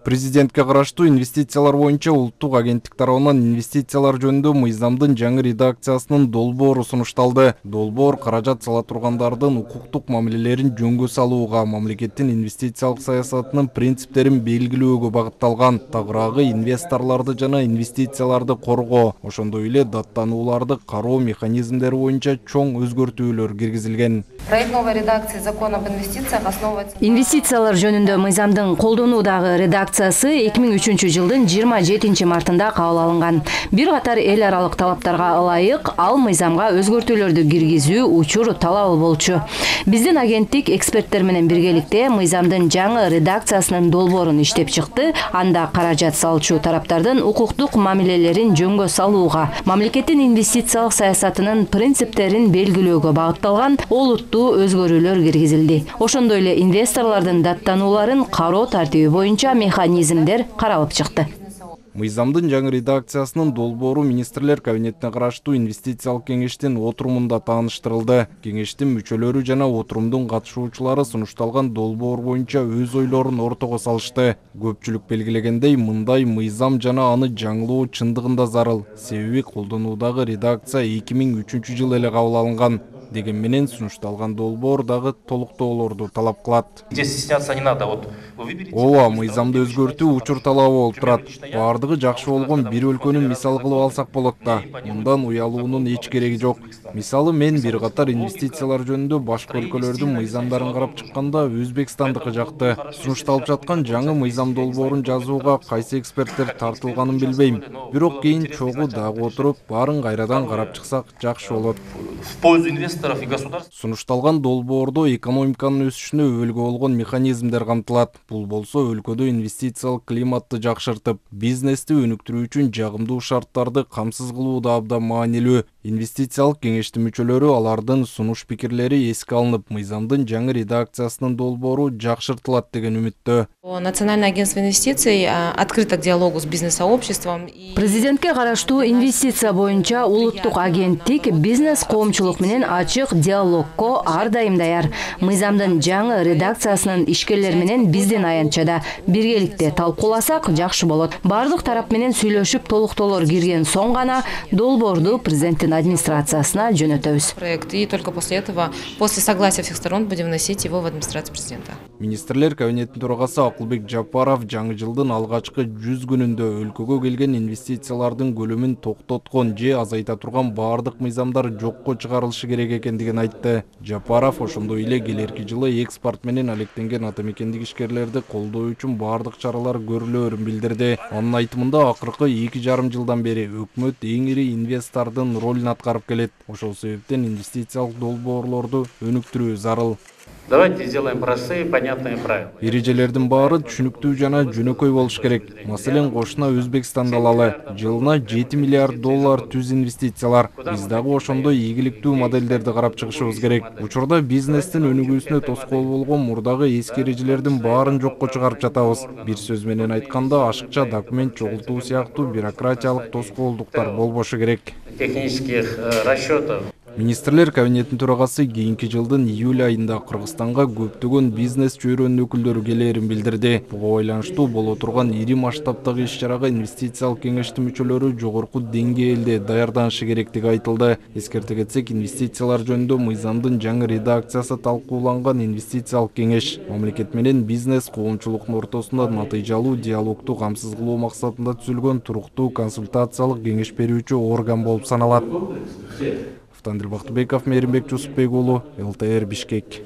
Президентке караштуу инвестициялар боюнча улуттук агенттик тарабынан инвестициялар жөнүндө мыйзамдын жаңы редакциясынын долбоору сунушталды. Долбоор каражат сала тургандардын укуктук мамилелерин жөнгө салууга, мамлекеттин инвестициялык саясатынын принциптерин белгилөөгө багытталган. Тагыраагы инвесторлорду жана инвестицияларды коргоо, ошондой эле даттанууларды кароо механизмдери боюнча чоң өзгөртүүлөр киргизилген. Проект новой редакции закона об инвестициях основывается. Инвестициялар жөнүндө мыйзамдын колдонуудагы редакциясы 2003 жылдын 27 мартында кабыл алынган. Бир катар эл аралык талаптарга ылайык ал мыйзамга өзгөртүүлөрдү киргизүү учур талабы болчу. Биздин агенттик эксперттер менен биргеликте мыйзамдын жаңы редакциясынын долбоорун иштеп чыкты. Анда каражат салчу тараптардын укуктук мамилелерин жөнгө салууга, мамлекеттин инвестициялык саясатынын принциптерин белгилөөгө багытталган олуттуу өзгөрүүлөр киргизилди. Ошондой эле инвесторлордун даттанууларын кароо тартиби боюнча механизмдер каралып чыкты. Мыйзамдын жаңы редакциясынын долбоору министрлер кабинетине караштуу инвестициялык кеңештин отурумунда тааныштырылды. Кеңештин мүчөлөрү жана отурумдун катышуучулары сунушталган долбоор боюнча өз ойлорун ортого салышты. Көпчүлүк белгилегендей, мындай мыйзам жана аны жаңылоо чындыгында зарыл. Себеби колдонуудагы редакция 2003 жылы эле кабыл алынган. Деген менен сунушталган долбоор дагы толуктоолорду талап кылат. Здесь стесняться не надо. Вот вы выберете. Ооба, мыйзамды өзгөртүү учур талабы болуп турат. Бардыгы жакшы болгон бир өлкөнүн мисалы кылып алсак болот да. Мындан уялуунун эч кереги жок. Мисалы мен бир катар инвестициялар жөнүндө башка өлкөлөрдүн мыйзамдарын карап чыкканда Өзбекстандыкы жакты. Сунушталып жаткан жаңы мыйзам долбоорун жазууга кайсы эксперттер тартылганын билбейм. Бирок кийин чогуу дагы отуруп, баарын кайрадан карап чыксак жакшы болот. В пользу инвесторов и государств. Сунушталган долбоордо экономиканын өсүшүнө өбөлгө болгон механизмдер камтылат. Бул болсо өлкөдө инвестициялык климатты жакшыртып, бизнести өнүктүрүү үчүн жагымдуу шарттарды камсыз кылуу да абдан маанилүү. Инвестициялык кеңештин мүчөлөрү алардын сунуш пикирлери эске алынып, мыйзамдын жаңы редакциясынын долбоору жакшыртылат деген үмүттө. Национальное агентство инвестиций открыто к диалогу с бизнес-сообществом. Президентке караштуу инвестиция боюнча улуттук агенттик бизнес коомчулук менен ачык диалогко ар дайым даяр. Мыйзамдын жаңы редакциясынын ишкерлери менен биздин аянтчада биргеликте талкууласак жакшы болот. Бардык тарап менен сүйлөшүп толуктоолор кирген соң гана долбоорду президенттин администрациясына жөнөтөбүз. Проект, и только после этого, после согласия всех сторон, будем вносить его в администрацию президента. Министрлер кабинетинин төрагасы Акылбек Жапаров жаңы жылдын алгачкы 100 күнүндө өлкөгө келген инвестициялардын көлөмүн токтоткон же азайта турган бардык мыйзамдар жокко чыгарылышы керек экендигин айтты. Жапаров ошондой эле келерки жылы экспорт менен алектенген атамекендик ишкерлерди колдоо үчүн бардык чаралар көрүлөөрүн билдирди. Анын айтымында акыркы 2,5 жылдан бери өкмөт эң ири инвестордун ролун аткарып келет. Ошол себептен инвестициялык долбоорлорду өнүктүрүү зарыл. Давайте сделаем простые, понятные правила. Эрежелердин баары түшүнүктүү жана жөнөкөй болуш керек. Маселен, кошуна Өзбекстанды алалы. Жылына 7 миллиард доллар түз инвестициялар. Биз дагы ошондой ийгиликтүү модельдерди карап чыгышыбыз керек. Учурда бизнестин өнүгүүсүнө тоскоол болгон мурдагы эски эрежелердин баарын жокко чыгарып жатабыз. Бир сөз менен айтканда, ашыкча документ чогултуу сыяктуу бюрократиялык тоскоолдуктар болбошу керек. Технических расчетов. Министрлер кабинетинин төрагасы кийинки жылдын июль айында Кыргызстанга көптөгөн бизнес чөйрөнүн өкүлдөрү келээрин билдирди. Буга байланыштуу боло турган ири масштабдагы иш-чарага инвестициялык кеңештин мүчөлөрү жогорку деңгээлде даярданышы керектиги айтылды. Эскерте кетсек, инвестициялар жөнүндө мыйзамдын жаңы редакциясы талкууланган инвестициялык кеңеш мамлекет менен бизнес коомчулуктун ортосунда натыйжалуу диалогду камсыз кылуу максатында түзүлгөн туруктуу консультациялык кеңеш берүүчү орган болуп саналат. Андрей Бактыбеков, Мейримбек Жусупбек уулу, ЛТР, Бишкек.